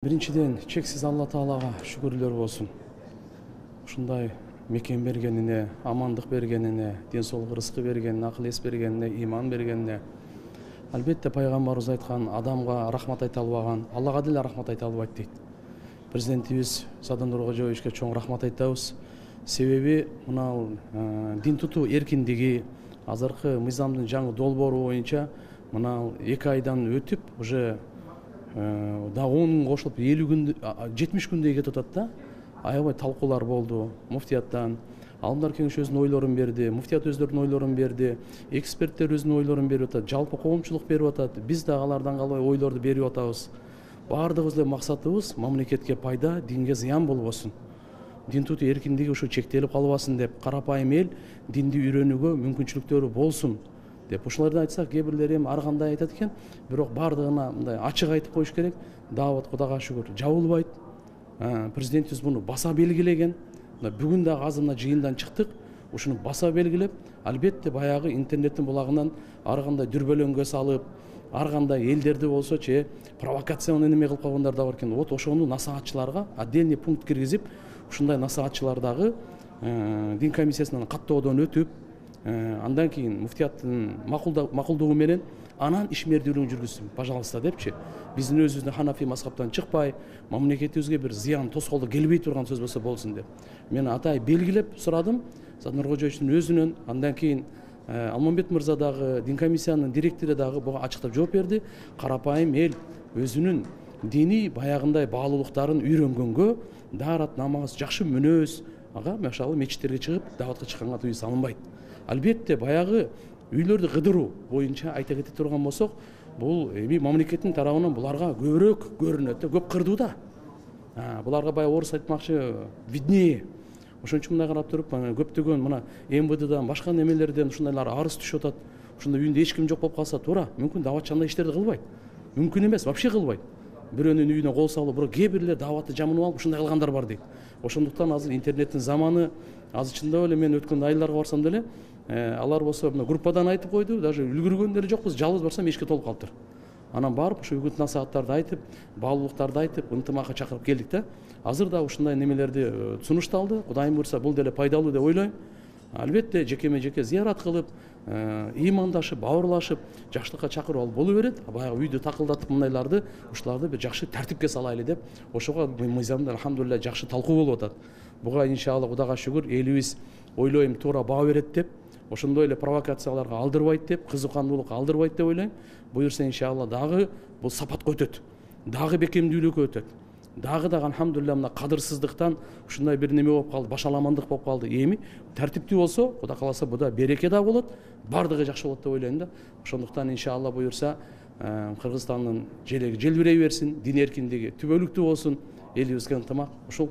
Биринчиден, чексиз Алла Таалага шүгүрлөр болсун. Ушундай мекен бергенине, амандык бергенине, ден соолук рызкы бергенине, акыл эс бергенине, иман бергенине. Албетте пайгамбарыбыз айткан, адамга рахмат айта албаган, Аллага деле рахмат айта албайт дейт. Президентибиз Сооронбай Нуркожоевичке чоң рахмат айтабыз. Себеби мына дин тутуу эркиндиги, азыркы мыйзамдын жаңы долбоору боюнча мына 2 айдан өтүп, уже дагы 10 күн кошулуп 50 күн 70 күндөй кетип атат да. Аябай талкуулар болду муфтияттан. Алымдар кеңеши өзүнүн ойлорун берди, муфтият өздөрүнүн ойлорун берди, эксперттер өзүнүн ойлорун берип атат, жалпы коомчулук берип атат. Биз да алардан калбай ойлорду берип атабыз. Бардыгыбыз эле максатыбыз мамлекетке пайда, динге зыян болбосун. Дин тутуу эркиндиги ушу чектелип калбасын деп, карапайым эл динди үйрөнүүгө мүмкүнчүлүктөрү болсун деп. Ушуларды айтсак, кээ бирлери эми ар кандай айтат экен, бирок бардыгына мындай ачык айтып коюш керек. Даават Кудайга шүгүр жабылбайт. Президентибиз муну баса белгилеген. Бүгүн дагы азыр мына жыйындан чыктык. Ушуну баса белгилеп, албетте баягы интернеттин булагынан ар кандай дүрбөлөңгө салып, ар кандай элдерди болсочу провокационный неме кылып койгондар да бар экен. Вот ошону насаатчыларга отдельный пункт киргизип, ушундай насаатчылар дагы дин комиссиясынан каттоодон өтүп, андан кийин муфтияттын макулдугу менен анан ишмердүүлүгүн жүргүзсүн, пожалуйста депчи. Биздин өзүбүздүн ханафи мазхабтан чыкпай, мамлекетибизге бир зыян тоскоолдук келбей турган сөз болсо болсун деп. Мен атай белгилеп сурадым Сооронбай Нуркожоевичтин өзүнөн, андан кийин Алмамбет мырза дагы, дин комиссиянын директору дагы буга ачыктап жооп берди. Карапайым эл өзүнүн диний баягындай баалуулуктарын үйрөнгөнгө даарат, намаз, жакшы мүнөз, машалла мечиттерге чыгып дааватка чыкканга тыюу салынбайт. Албетте баягы үйлөрдү кыдыруу боюнча айта кете турган болсок, бул эми мамлекеттин тарабынан буларга көбүрөөк көрүнөт, көп кырдуу да. Буларга баягы орус айтмакчы виднее. Ошон үчүн мындай карап туруп, көптөгөн мына МВДдан, башка немелерден ушундайлар арыз түшүп атат. Ушундай үйүндө эч ким жок болуп калса, туура, мүмкүн дааватчы андай иштерди кылбайт. Мүмкүн эмес, вообще кылбайт. Бирөөнүн үйүнө кол салып, бирок кээ бирлер дааватты жамынып алып ушундай кылгандар бар дейт. Ошондуктан азыр интернеттин заманы, азыр чындап эле мен өткөн айларга барсам деле, алар болсо мына группадан айтып койду, даже үлгүргөн деле жокпуз, жалгыз барсам эшикке толуп калыптыр. Анан барып, ошо үгүт насааттарды айтып, баалуулуктарды айтып, ынтымакка чакырып келдик да. Азыр да ушундай немелерди сунушталды. Кудайым буйрса, бул деле пайдалуу деп ойлойм. Албетте жекеме жеке зыярат кылып, ыймандашып, бауырлашып, жакшылыкка чакырып алып боло берет. Баягы үйдү такылдатып мындайларды, ушуларды бир жакшы тартипке салайлы деп, ошого мыйзамда алхамдулилля жакшы талкуу болуп атат. Буга иншалла Кудайга шүгүр, элибиз ойлойм туура баа берет деп, ошондой эле провокацияларга алдырбайт деп, кызыкандуулукка алдырбайт деп ойлойм. Буюрса иншалла дагы бул сапатка өтөт. Дагы бекемдүүлүккө өтөт. Дагы алхамдулилля мына кадырсыздыктан ушундай бир неме болуп калды, башаламандык болуп калды. Эми тартиптүү болсо, Кудай кааласа буда береке да болот, бардыгы жакшы болот деп ойлойм да. Ошондуктан иншалла буюрса, Кыргызстандын желеги желбирей берсин, дин эркиндиги түбөлүктүү болсун, элибизге ынтымак ушул.